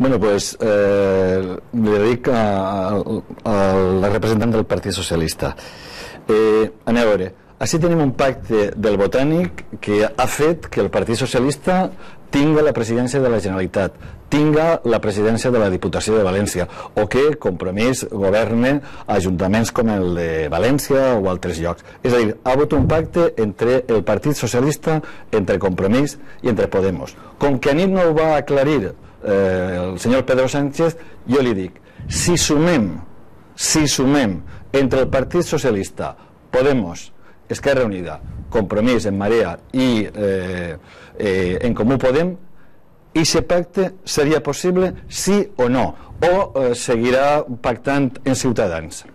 Bueno, pues le dic al representant del Partit Socialista. Aneu a veure, així tenim un pacte del Botànic que ha fet que el Partit Socialista tinga la presidència de la Generalitat, tinga la presidència de la Diputació de València, o que Compromís governe ajuntaments com el de València o altres llocs. És a dir, ha hagut un pacte entre el Partit Socialista, entre Compromís i entre Podemos. Com que a nit no ho va aclarir el senyor Pedro Sánchez, jo li dic, si sumem entre el Partit Socialista, Podemos, Esquerra Unida, Compromís, En Marea i En Comú Podem, i aquest pacte seria possible sí o no, o seguirà pactant en Ciutadans?